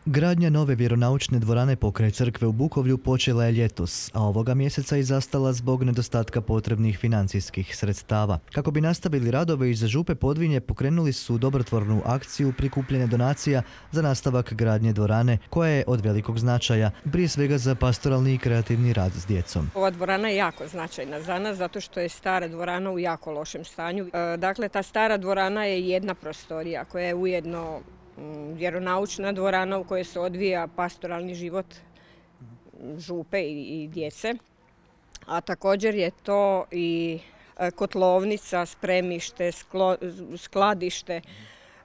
Gradnja nove vjeronaučne dvorane pokraj crkve u Bukovlju počela je ljetos, a ovoga mjeseca i zastala zbog nedostatka potrebnih financijskih sredstava. Kako bi nastavili radove, iz Župe Podvinje pokrenuli su dobrotvornu akciju prikupljanja donacija za nastavak gradnje dvorane, koja je od velikog značaja, prije svega za pastoralni i kreativni rad s djecom. Ova dvorana je jako značajna za nas zato što je stara dvorana u jako lošem stanju. Dakle, ta stara dvorana je jedna prostorija koja je ujedno vjeronaučna dvorana u kojoj se odvija pastoralni život župe i djece, a također je to i kotlovnica, spremište, skladište,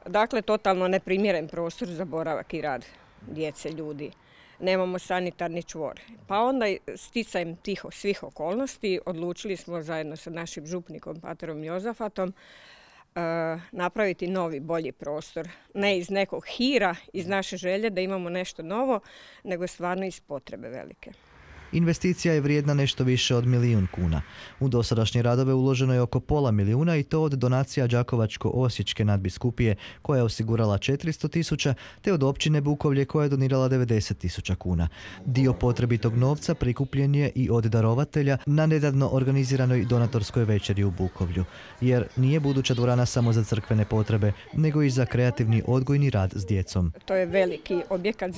dakle totalno neprimjeren prostor za boravak i rad djece, ljudi. Nemamo sanitarni čvor. Pa onda sticajem tih svih okolnosti odlučili smo zajedno sa našim župnikom paterom Jozafatom napraviti novi, bolji prostor. Ne iz nekog hira, iz naše želje da imamo nešto novo, nego stvarno iz potrebe velike. Investicija je vrijedna nešto više od 1 milijun kuna. U dosadašnje radove uloženo je oko pola milijuna i to od donacija Đakovačko-osječke nadbiskupije koja je osigurala 400.000 te od općine Bukovlje koja je donirala 90.000 kuna. Dio potrebitog novca prikupljen je i od darovatelja na nedavno organiziranoj donatorskoj večeri u Bukovlju, jer nije buduća dvorana samo za crkvene potrebe, nego i za kreativni odgojni rad s djecom. To je veliki objekat,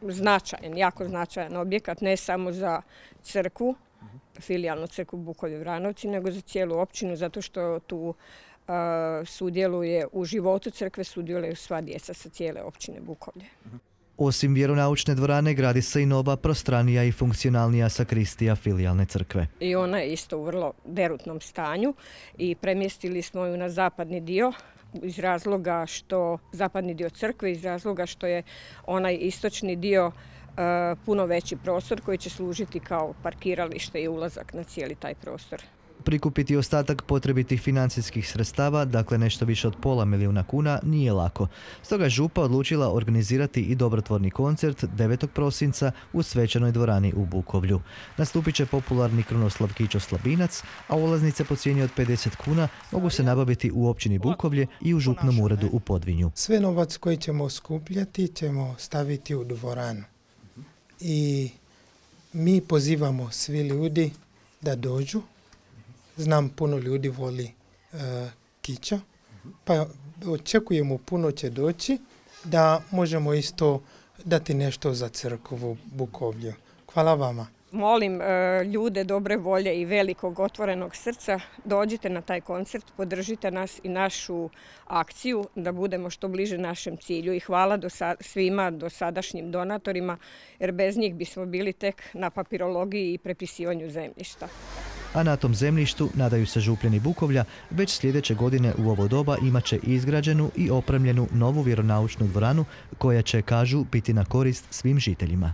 značajan, jako značajan objekat, ne samo za crkvu, filijalnu crkvu Bukovlje-Vranovci, nego za cijelu općinu, zato što tu sudjeluje u životu crkve, sudjeluju sva djeca sa cijele općine Bukovlje. Osim vjeronaučne dvorane gradi se i nova, prostranija i funkcionalnija sakristija filijalne crkve. I ona je isto u vrlo derutnom stanju i premjestili smo ju na zapadni dio iz razloga što zapadni dio crkve, iz razloga što je onaj istočni dio puno veći prostor koji će služiti kao parkiralište i ulazak na cijeli taj prostor. Prikupiti ostatak potrebitih financijskih sredstava, dakle nešto više od pola milijuna kuna, nije lako. Stoga je Župa odlučila organizati i dobrotvorni koncert 9. prosinca u svečanoj dvorani u Bukovlju. Nastupit će popularni Krunoslav Kićo Slabinac, a ulaznice po cijeni od 50 kuna mogu se nabaviti u općini Bukovlje i u župnom uredu u Podvinju. Sve novac koji ćemo skupljati ćemo staviti u dvoranu. I mi pozivamo svi ljudi da dođu. Znam, puno ljudi voli Kića, pa očekujemo puno će doći da možemo isto dati nešto za crkvu Bukovlju. Hvala vama. Molim ljude dobre volje i velikog otvorenog srca, dođite na taj koncert, podržite nas i našu akciju da budemo što bliže našem cilju. I hvala svima dosadašnjim donatorima, jer bez njih bismo bili tek na papirologiji i prepisivanju zemljišta. A na tom zemljištu, nadaju se Župljani Bukovlja, već sljedeće godine u ovo doba imat će izgrađenu i opremljenu novu vjeronaučnu dvoranu koja će, kažu, biti na korist svim žiteljima.